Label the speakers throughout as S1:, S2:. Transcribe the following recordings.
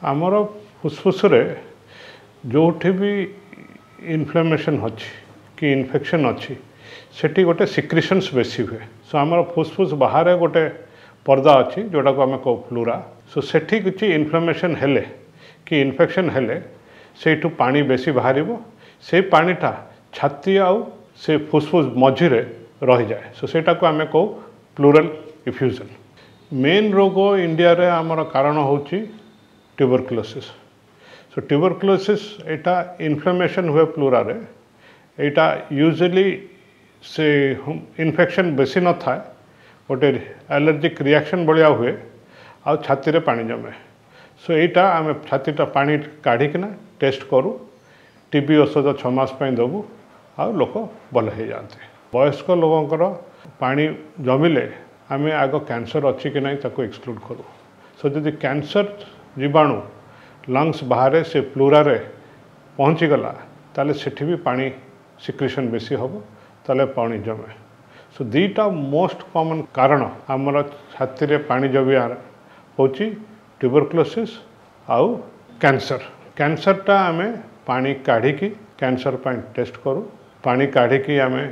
S1: ଆମର ଫୁସଫୁସରେ ଯେଉଁଠି ବି ଇନଫ୍ଲାମେସନ୍ ଅଛି କି ଇନଫେକ୍ସନ୍ ଅଛି, ସେଠି ଗୋଟେ ସିକ୍ରିସନ୍ସ ବେଶୀ ହୁଏ। ସୋ ଆମର ଫୁସଫୁସ ବାହାରେ ଗୋଟେ ପର୍ଦ୍ଦା ଅଛି, ଯେଉଁଟାକୁ ଆମେ କହୁ ପ୍ଲୁରା। ସୋ ସେଠି କିଛି ଇନଫ୍ଲାମେସନ୍ ହେଲେ କି ଇନଫେକ୍ସନ୍ ହେଲେ ସେଇଠୁ ପାଣି ବେଶୀ ବାହାରିବ। ସେଇ ପାଣିଟା ଛାତି ଆଉ ସେ ଫୁସଫୁସ ମଝିରେ ରହିଯାଏ। ସୋ ସେଇଟାକୁ ଆମେ କହୁ ପ୍ଲୁରାଲ ଇଫ୍ୟୁଜନ୍। ମେନ୍ ରୋଗ ଇଣ୍ଡିଆରେ ଆମର କାରଣ ହେଉଛି ଟ୍ୟୁବରକ୍ଲୋସିସ୍। ସୋ ଟ୍ୟୁବରକ୍ଲୋସିସ୍ ଏଇଟା ଇନଫ୍ଲାମେସନ୍ ହୁଏ ପ୍ଲୁରାରେ। ଏଇଟା ୟୁଜୁଆଲି ସେ ଇନଫେକ୍ସନ୍ ବେଶୀ ନଥାଏ, ଗୋଟେ ଆଲର୍ଜିକ୍ ରିଆକ୍ସନ୍ ଭଳିଆ ହୁଏ ଆଉ ଛାତିରେ ପାଣି ଜମେ। ସୋ ଏଇଟା ଆମେ ଛାତିଟା ପାଣି କାଢ଼ିକିନା ଟେଷ୍ଟ କରୁ, ଟିବି ଔଷଧ 6 ମାସ ପାଇଁ ଦେବୁ ଆଉ ଲୋକ ଭଲ ହେଇଯାଆନ୍ତି। ବୟସ୍କ ଲୋକଙ୍କର ପାଣି ଜମିଲେ ଆମେ ଆଗ କ୍ୟାନ୍ସର ଅଛି କି ନାହିଁ ତାକୁ ଏକ୍ସକ୍ଲୁଡ଼ କରୁ। ସୋ ଯଦି କ୍ୟାନ୍ସର ଜୀବାଣୁ ଲଙ୍ଗସ୍ ବାହାରେ ସେ ପ୍ଲୁରାରେ ପହଞ୍ଚିଗଲା, ତାହେଲେ ସେଠି ବି ପାଣି ସିକ୍ରିସନ୍ ବେଶୀ ହେବ, ତାହେଲେ ପାଣି ଜମେ। ସୋ ଦୁଇଟା ମୋଷ୍ଟ କମନ୍ କାରଣ ଆମର ଛାତିରେ ପାଣି ଜମିବାର ହେଉଛି ଟ୍ୟୁବରକ୍ଲୋସିସ୍ ଆଉ କ୍ୟାନ୍ସର। କ୍ୟାନ୍ସରଟା ଆମେ ପାଣି କାଢ଼ିକି କ୍ୟାନ୍ସର ପାଇଁ ଟେଷ୍ଟ କରୁ। ପାଣି କାଢ଼ିକି ଆମେ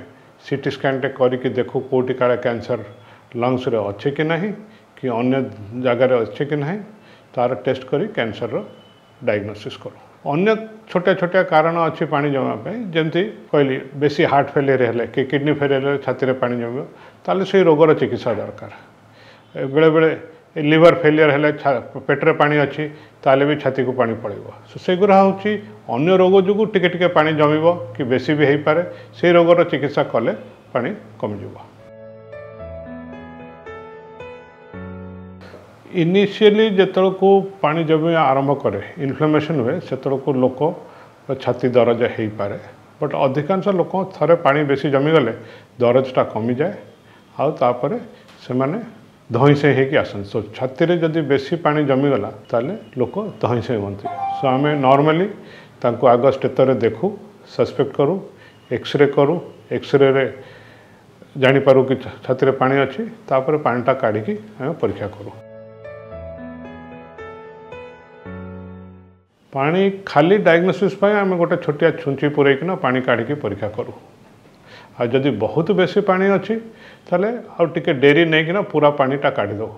S1: ସିଟି ସ୍କାନ୍ଟେ କରିକି ଦେଖୁ କେଉଁଠି କାଳେ କ୍ୟାନ୍ସର ଲଙ୍ଗସରେ ଅଛି କି ନାହିଁ କି ଅନ୍ୟ ଜାଗାରେ ଅଛି କି ନାହିଁ, ତାର ଟେଷ୍ଟ କରି କ୍ୟାନ୍ସରର ଡାଇଗ୍ନୋସିସ୍ କରୁ। ଅନ୍ୟ ଛୋଟିଆ ଛୋଟିଆ କାରଣ ଅଛି ପାଣି ଜମିବା ପାଇଁ, ଯେମିତି କହିଲି ବେଶୀ ହାର୍ଟ ଫେଲିୟର ହେଲେ କି କିଡ଼ନୀ ଫେଲିୟର ହେଲେ ଛାତିରେ ପାଣି ଜମିବ, ତାହେଲେ ସେଇ ରୋଗର ଚିକିତ୍ସା ଦରକାର। ବେଳେବେଳେ ଲିଭର ଫେଲିୟର ହେଲେ ପେଟରେ ପାଣି ଅଛି, ତାହେଲେ ବି ଛାତିକୁ ପାଣି ପଳେଇବ। ସୋ ସେଗୁଡ଼ା ହେଉଛି ଅନ୍ୟ ରୋଗ ଯୋଗୁଁ ଟିକେ ଟିକେ ପାଣି ଜମିବ କି ବେଶୀ ବି ହେଇପାରେ, ସେଇ ରୋଗର ଚିକିତ୍ସା କଲେ ପାଣି କମିଯିବ। ଇନିସିଆଲି ଯେତେବେଳକୁ ପାଣି ଜମିବା ଆରମ୍ଭ କରେ, ଇନଫ୍ଲାମେସନ୍ ହୁଏ, ସେତେବେଳକୁ ଲୋକ ଛାତି ଦରଜ ହେଇପାରେ। ବଟ୍ ଅଧିକାଂଶ ଲୋକ ଥରେ ପାଣି ବେଶୀ ଜମିଗଲେ ଦରଜଟା କମିଯାଏ ଆଉ ତାପରେ ସେମାନେ ଧଇଁସଇଁ ହେଇକି ଆସନ୍ତି। ସୋ ଛାତିରେ ଯଦି ବେଶୀ ପାଣି ଜମିଗଲା ତାହେଲେ ଲୋକ ଧଇଁସଇଁ ହୁଅନ୍ତି। ସୋ ଆମେ ନର୍ମାଲି ତାଙ୍କୁ ଆଗ ଷ୍ଟେତରେ ଦେଖୁ, ସସ୍ପେକ୍ଟ କରୁ, ଏକ୍ସରେ କରୁ। ଏକ୍ସରେରେ ଜାଣିପାରୁ କି ଛାତିରେ ପାଣି ଅଛି, ତାପରେ ପାଣିଟା କାଢ଼ିକି ଆମେ ପରୀକ୍ଷା କରୁ। ପାଣି ଖାଲି ଡାଇଗ୍ନୋସିସ୍ ପାଇଁ ଆମେ ଗୋଟେ ଛୋଟିଆ ଛୁଞ୍ଚି ପୂରେଇକିନା ପାଣି କାଢ଼ିକି ପରୀକ୍ଷା କରୁ। ଆଉ ଯଦି ବହୁତ ବେଶୀ ପାଣି ଅଛି ତାହେଲେ ଆଉ ଟିକେ ଡେରି ନେଇକିନା ପୁରା ପାଣିଟା କାଢ଼ିଦେବୁ।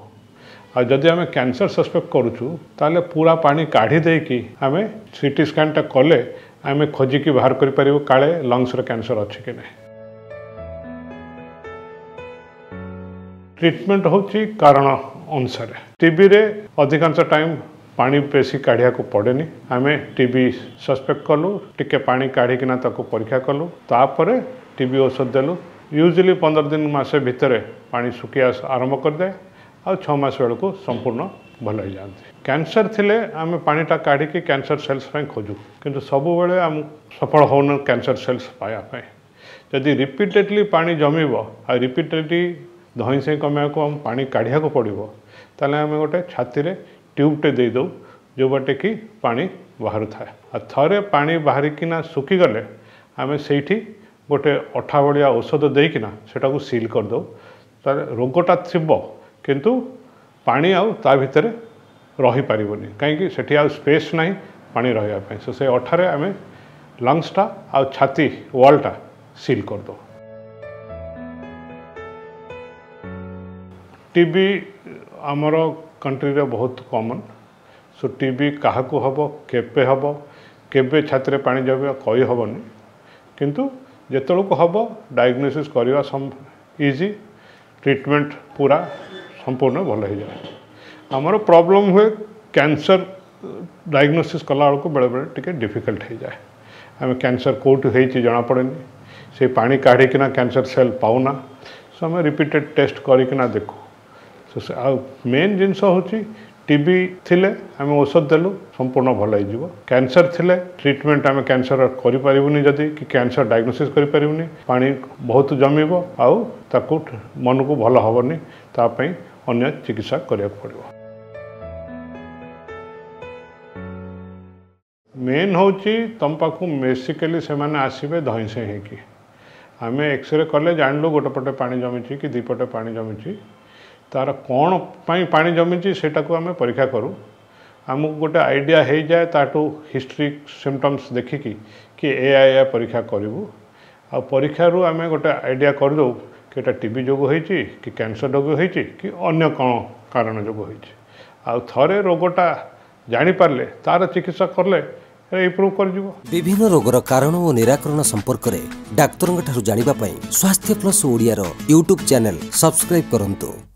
S1: ଆଉ ଯଦି ଆମେ କ୍ୟାନ୍ସର ସସ୍ପେକ୍ଟ କରୁଛୁ ତାହେଲେ ପୁରା ପାଣି କାଢ଼ି ଦେଇକି ଆମେ ସିଟି ସ୍କାନ୍ଟା କଲେ ଆମେ ଖୋଜିକି ବାହାର କରିପାରିବୁ କାଳେ ଲଙ୍ଗସରେ କ୍ୟାନ୍ସର ଅଛି କି ନାହିଁ। ଟ୍ରିଟମେଣ୍ଟ ହେଉଛି କାରଣ ଅନୁସାରେ। ଟିବିରେ ଅଧିକାଂଶ ଟାଇମ୍ ପାଣି ବେଶୀ କାଢ଼ିବାକୁ ପଡ଼େନି। ଆମେ ଟିବି ସସ୍ପେକ୍ଟ କଲୁ, ଟିକେ ପାଣି କାଢ଼ିକିନା ତାକୁ ପରୀକ୍ଷା କଲୁ, ତାପରେ ଟିବି ଔଷଧ ଦେଲୁ। ୟୁଜୁଆଲି 15 ଦିନ ମାସେ ଭିତରେ ପାଣି ଶୁଖିବା ଆରମ୍ଭ କରିଯାଏ ଆଉ 6 ମାସ ବେଳକୁ ସମ୍ପୂର୍ଣ୍ଣ ଭଲ ହେଇଯାଆନ୍ତି। କ୍ୟାନ୍ସର ଥିଲେ ଆମେ ପାଣିଟା କାଢ଼ିକି କ୍ୟାନ୍ସର ସେଲ୍ସ ପାଇଁ ଖୋଜୁ, କିନ୍ତୁ ସବୁବେଳେ ଆମ ସଫଳ ହେଉନୁ କ୍ୟାନ୍ସର ସେଲ୍ସ ପାଇବା ପାଇଁ। ଯଦି ରିପିଟେଡ଼ଲି ପାଣି ଜମିବ ଆଉ ରିପିଟେଡ଼ଲି ଧଇଁସଇଁ କମାଇବାକୁ ଆମ ପାଣି କାଢ଼ିବାକୁ ପଡ଼ିବ, ତାହେଲେ ଆମେ ଗୋଟେ ଛାତିରେ ଟ୍ୟୁବ୍ଟେ ଦେଇଦେଉ ଯେଉଁ ବାଟେ କି ପାଣି ବାହାରୁଥାଏ। ଆଉ ଥରେ ପାଣି ବାହାରିକିନା ଶୁଖିଗଲେ ଆମେ ସେଇଠି ଗୋଟେ ଅଠା ଭଳିଆ ଔଷଧ ଦେଇକିନା ସେଟାକୁ ସିଲ୍ କରିଦେଉ। ତାହେଲେ ରୋଗଟା ଥିବ କିନ୍ତୁ ପାଣି ଆଉ ତା ଭିତରେ ରହିପାରିବନି, କାହିଁକି ସେଠି ଆଉ ସ୍ପେସ୍ ନାହିଁ ପାଣି ରହିବା ପାଇଁ। ସୋ ସେ ଅଠାରେ ଆମେ ଲଙ୍ଗସଟା ଆଉ ଛାତି ୱାଲ୍ଟା ସିଲ୍ କରିଦେଉ। ଟିବି ଆମର କଣ୍ଟ୍ରିରେ ବହୁତ କମନ୍। ସୋ ଟିବି କାହାକୁ ହେବ, କେବେ ହେବ, କେବେ ଛାତିରେ ପାଣି ଜମିବ କହିହେବନି, କିନ୍ତୁ ଯେତେବେଳକୁ ହେବ ଡାଇଗ୍ନୋସିସ୍ କରିବା ଇଜି, ଟ୍ରିଟମେଣ୍ଟ ପୁରା ସମ୍ପୂର୍ଣ୍ଣ ଭଲ ହେଇଯାଏ। ଆମର ପ୍ରୋବ୍ଲେମ୍ ହୁଏ କ୍ୟାନ୍ସର ଡାଇଗ୍ନୋସିସ୍ କଲାବେଳକୁ ବେଳେବେଳେ ଟିକେ ଡିଫିକଲ୍ଟ ହେଇଯାଏ। ଆମେ କ୍ୟାନ୍ସର କେଉଁଠୁ ହେଇଛି ଜଣାପଡ଼େନି, ସେଇ ପାଣି କାଢ଼ିକିନା କ୍ୟାନ୍ସର ସେଲ୍ ପାଉନା। ସୋ ଆମେ ରିପିଟେଡ଼ ଟେଷ୍ଟ କରିକିନା ଦେଖୁ। ସୋ ଆଉ ମେନ୍ ଜିନିଷ ହେଉଛି ଟିବି ଥିଲେ ଆମେ ଔଷଧ ଦେଲୁ ସମ୍ପୂର୍ଣ୍ଣ ଭଲ ହେଇଯିବ। କ୍ୟାନ୍ସର ଥିଲେ ଟ୍ରିଟମେଣ୍ଟ ଆମେ କ୍ୟାନ୍ସର କରିପାରିବୁନି ଯଦି କି କ୍ୟାନ୍ସର ଡାଇଗ୍ନୋସିସ୍ କରିପାରିବୁନି, ପାଣି ବହୁତ ଜମିବ ଆଉ ତାକୁ ମନକୁ ଭଲ ହେବନି, ତା ପାଇଁ ଅନ୍ୟ ଚିକିତ୍ସା କରିବାକୁ ପଡ଼ିବ। ମେନ୍ ହେଉଛି ତୁମ ପାଖକୁ ବେସିକାଲି ସେମାନେ ଆସିବେ ଧଇଁସଇଁ ହେଇକି। ଆମେ ଏକ୍ସରେ କଲେ ଜାଣିଲୁ ଗୋଟେ ପଟେ ପାଣି ଜମିଛି କି ଦୁଇ ପଟେ ପାଣି ଜମିଛି, ତାର କ'ଣ ପାଇଁ ପାଣି ଜମିଛି ସେଇଟାକୁ ଆମେ ପରୀକ୍ଷା କରୁ। ଆମକୁ ଗୋଟେ ଆଇଡ଼ିଆ ହେଇଯାଏ ତାଠୁ ହିଷ୍ଟ୍ରି ସିମ୍ପଟମ୍ସ ଦେଖିକି କି ଏୟା ଏୟା ପରୀକ୍ଷା କରିବୁ। ଆଉ ପରୀକ୍ଷାରୁ ଆମେ ଗୋଟେ ଆଇଡ଼ିଆ କରିଦେଉ କି ଏଇଟା ଟିବି ଯୋଗୁଁ ହେଇଛି କି କ୍ୟାନ୍ସର ଯୋଗୁଁ ହେଇଛି କି ଅନ୍ୟ କ'ଣ କାରଣ ଯୋଗୁଁ ହେଇଛି। ଆଉ ଥରେ ରୋଗଟା ଜାଣିପାରିଲେ ତାର ଚିକିତ୍ସା କଲେ ଇମ୍ପ୍ରୁଭ୍ କରିଯିବ।
S2: ବିଭିନ୍ନ ରୋଗର କାରଣ ଓ ନିରାକରଣ ସମ୍ପର୍କରେ ଡାକ୍ତରଙ୍କ ଠାରୁ ଜାଣିବା ପାଇଁ ସ୍ୱାସ୍ଥ୍ୟ ପ୍ଲସ୍ ଓଡ଼ିଆର ୟୁଟ୍ୟୁବ୍ ଚ୍ୟାନେଲ୍ ସବସ୍କ୍ରାଇବ୍ କରନ୍ତୁ।